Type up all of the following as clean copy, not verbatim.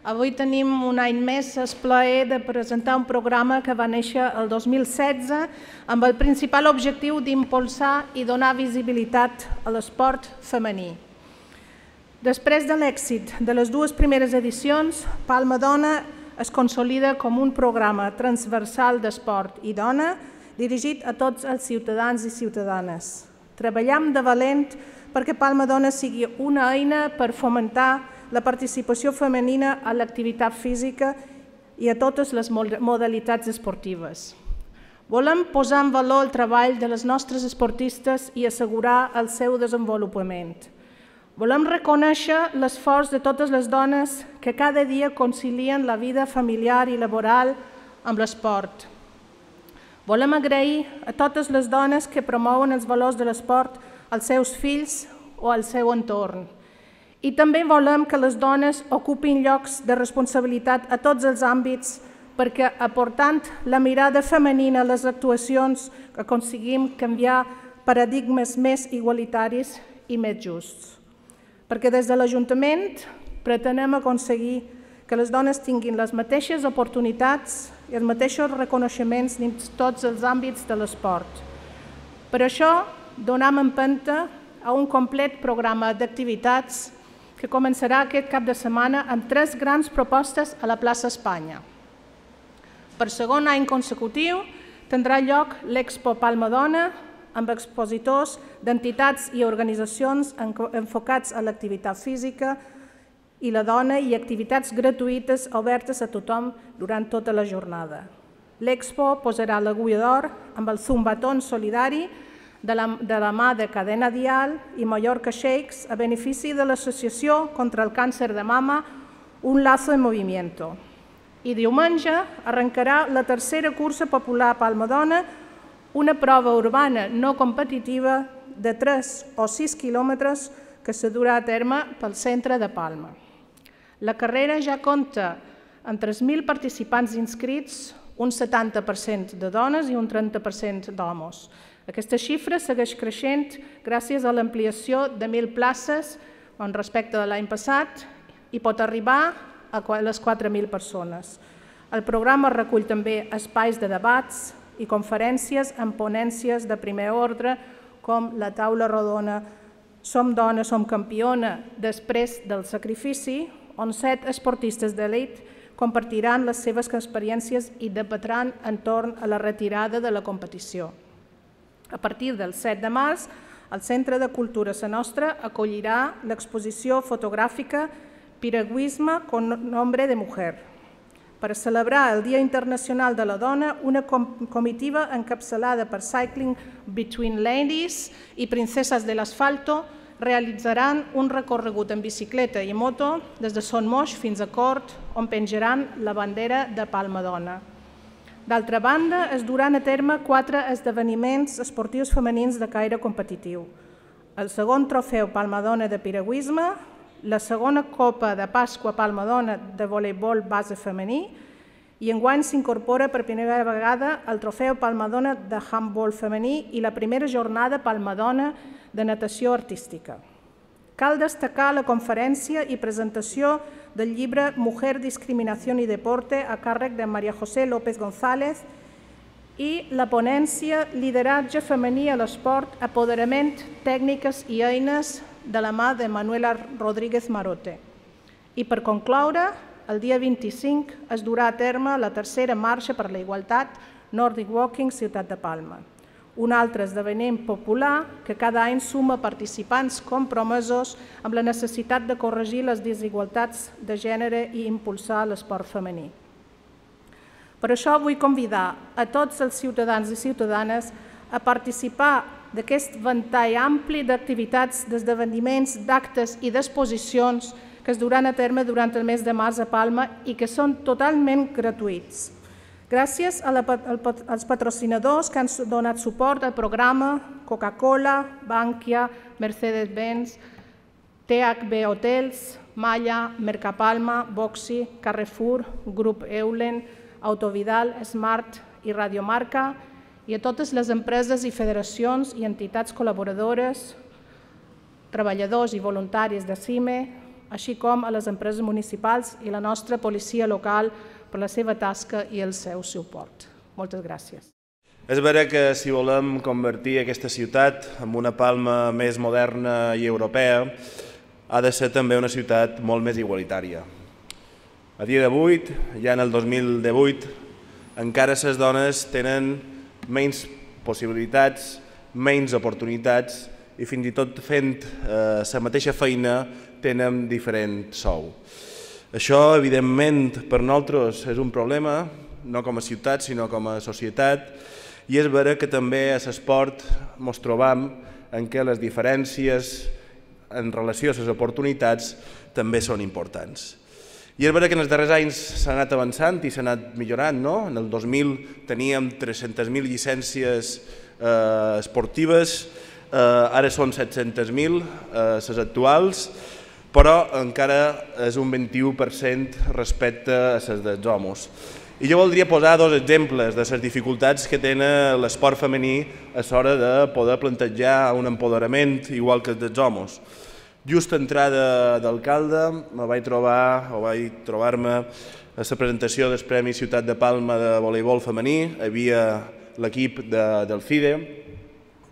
Avui tenim un any més el plaer de presentar un programa que va néixer el 2016 amb el principal objectiu d'impulsar i donar visibilitat a l'esport femení. Després de l'èxit de les dues primeres edicions, Palma Dona es consolida com un programa transversal d'esport i dona dirigit a tots els ciutadans i ciutadanes. Treballem de valent perquè Palma Dona sigui una eina per fomentar la participació femenina a l'activitat física i a totes les modalitats esportives. Volem posar en valor el treball de les nostres esportistes i assegurar el seu desenvolupament. Volem reconèixer l'esforç de totes les dones que cada dia concilien la vida familiar i laboral amb l'esport. Volem agrair a totes les dones que promouen els valors de l'esport als seus fills o al seu entorn. I també volem que les dones ocupin llocs de responsabilitat a tots els àmbits perquè, aportant la mirada femenina a les actuacions, aconseguim canviar paradigmes més igualitaris i més justs. Perquè des de l'Ajuntament pretenem aconseguir que les dones tinguin les mateixes oportunitats i els mateixos reconeixements dins tots els àmbits de l'esport. Per això, donem empenta a un complet programa d'activitats que començarà aquest cap de setmana amb 3 grans propostes a la plaça Espanya. Per segon any consecutiu tindrà lloc l'Expo Palma Dona amb expositors d'entitats i organitzacions enfocats a l'activitat física i la dona i activitats gratuïtes obertes a tothom durant tota la jornada. L'Expo posarà l'agulla d'or amb el Zumbatón solidari de la mà de Cadena Dial i Mallorca Shakes a benefici de l'Associació contra el Càncer de Mama Un Lazo en Movimiento. I diumenge arrencarà la tercera cursa popular Palma Dona, una prova urbana no competitiva de 3 o 6 quilòmetres que se durà a terme pel centre de Palma. La carrera ja compta amb 3.000 participants inscrits, un 70% de dones i un 30% d'homes. Aquesta xifra segueix creixent gràcies a l'ampliació de 1.000 places respecte de l'any passat i pot arribar a les 4.000 persones. El programa recull també espais de debats i conferències amb ponències de primer ordre com la taula rodona Som dona, som campiona després del sacrifici, on 7 esportistes d'elit compartiran les seves experiències i debatran entorn a la retirada de la competició. A partir del 7 de març, el Centre de Cultura Sa Nostra acollirà l'exposició fotogràfica Piragüisme con nombre de mujer. Per celebrar el Dia Internacional de la Dona, una comitiva encapçalada per Cycling Between Ladies i Princesas del Asfalto realitzaran un recorregut en bicicleta i moto des de Son Moix fins a Cort, on penjaran la bandera de Palma Dona. D'altra banda, es duran a terme 4 esdeveniments esportius femenins de caire competitiu. El segon trofeu Palma Dona de piragüisme, la segona Copa de Pasqua Palma Dona de voleibol base femení i enguany s'incorpora per primera vegada el trofeu Palma Dona de handbol femení i la primera jornada Palma Dona de natació artística. Cal destacar la conferència i presentació del llibre Mujer, Discriminación y Deporte a càrrec de María José López González i la ponència Lideratge femení a l'esport, apoderament, tècniques i eines de la mà de Manuela Rodríguez Marote. I per concloure, el dia 25 es durà a terme la tercera marxa per la igualtat Nordic Walking Ciutat de Palma, un altre esdeveniment popular que cada any suma participants compromesos amb la necessitat de corregir les desigualtats de gènere i impulsar l'esport femení. Per això vull convidar a tots els ciutadans i ciutadanes a participar d'aquest ventall ampli d'activitats, d'esdeveniments, d'actes i d'exposicions que es duran a terme durant el mes de març a Palma i que són totalment gratuïts. Gràcies als patrocinadors que han donat suport al programa, Coca-Cola, Bankia, Mercedes-Benz, THB Hotels, Malla, Mercapalma, Boxy, Carrefour, Grup Eulen, Autovidal, Smart i Radiomarca, i a totes les empreses i federacions i entitats col·laboradores, treballadors i voluntaris de CIME, així com a les empreses municipals i la nostra policia local per la seva tasca i el seu suport. Moltes gràcies. És vera que si volem convertir aquesta ciutat en una Palma més moderna i europea, ha de ser també una ciutat molt més igualitària. A dia d'avui, ja en el 2018, encara les dones tenen menys possibilitats, menys oportunitats i fins i tot fent la mateixa feina tenen diferent sou. Això, evidentment, per nosaltres és un problema, no com a ciutat, sinó com a societat, i és vera que també a l'esport ens trobam en què les diferències en relació a les oportunitats també són importants. I és vera que en els darrers anys s'ha anat avançant i s'ha anat millorant. En el 2000 teníem 300.000 llicències esportives, ara són 700.000 les actuals, però encara és un 21% respecte a les dels homes. I jo voldria posar dos exemples de les dificultats que tenen l'esport femení a l'hora de poder plantejar un empoderament igual que els dels homes. Just a entrada d'alcalde vaig trobar-me a la presentació del Premi Ciutat de Palma de voleibol femení. Hi havia l'equip del FIDE,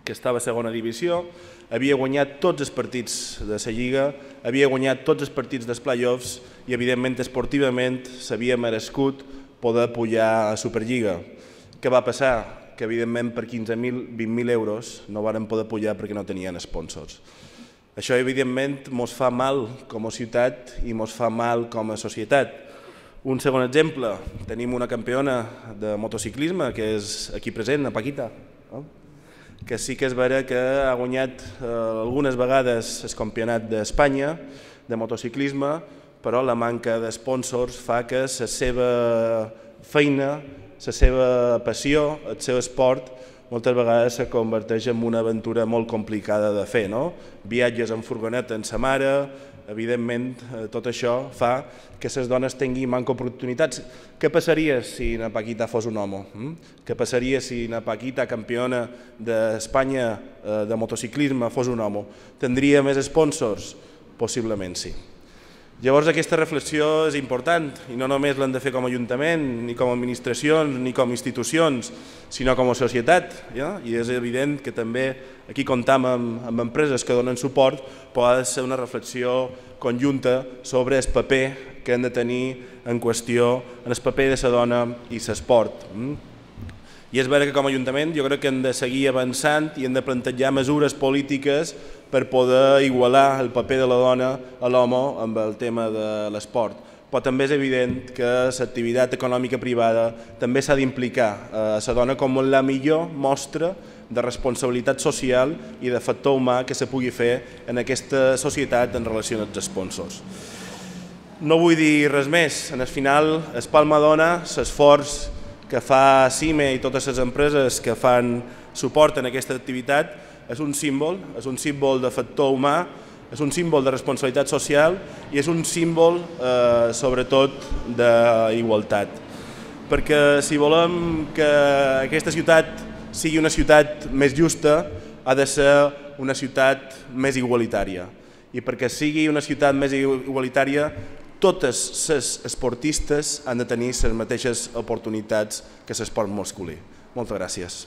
que estava a segona divisió, havia guanyat tots els partits de la Lliga, havia guanyat tots els partits dels play-offs i, evidentment, esportivament s'havia merescut poder pujar a Superliga. Què va passar? Que, evidentment, per 15.000, 20.000 euros no varen poder pujar perquè no tenien sponsors. Això, evidentment, ens fa mal com a ciutat i ens fa mal com a societat. Un segon exemple, tenim una campiona de motociclisme, que és aquí present, a Paquita, que sí que és vera que ha guanyat algunes vegades el campionat d'Espanya de motociclisme, però la manca de sponsors fa que la seva feina, la seva passió, el seu esport, moltes vegades se converteix en una aventura molt complicada de fer. Viatges en furgoneta amb sa mare, evidentment tot això fa que les dones tinguin manca oportunitats. Què passaria si na Paquita fos un home? Què passaria si na Paquita, campiona d'Espanya de motociclisme, fos un home? Tindria més sponsors? Possiblement sí. Llavors aquesta reflexió és important i no només l'hem de fer com a Ajuntament, ni com a administracions, ni com a institucions, sinó com a societat. I és evident que també aquí comptam amb empreses que donen suport, però ha de ser una reflexió conjunta sobre el paper que han de tenir en qüestió, en el paper de la dona i l'esport. I és vera que com a Ajuntament jo crec que hem de seguir avançant i hem de plantejar mesures polítiques per poder igualar el paper de la dona a l'home amb el tema de l'esport. Però també és evident que l'activitat econòmica privada també s'ha d'implicar a la dona com la millor mostra de responsabilitat social i de factor humà que se pugui fer en aquesta societat en relació amb els sponsors. No vull dir res més. En el final, es Palma dona l'esforç que fa CIME i totes les empreses que fan suport en aquesta activitat és un símbol de factor humà, és un símbol de responsabilitat social i és un símbol, sobretot, d'igualtat. Perquè si volem que aquesta ciutat sigui una ciutat més justa, ha de ser una ciutat més igualitària. I perquè sigui una ciutat més igualitària, totes les esportistes han de tenir les mateixes oportunitats que l'esport masculí. Moltes gràcies.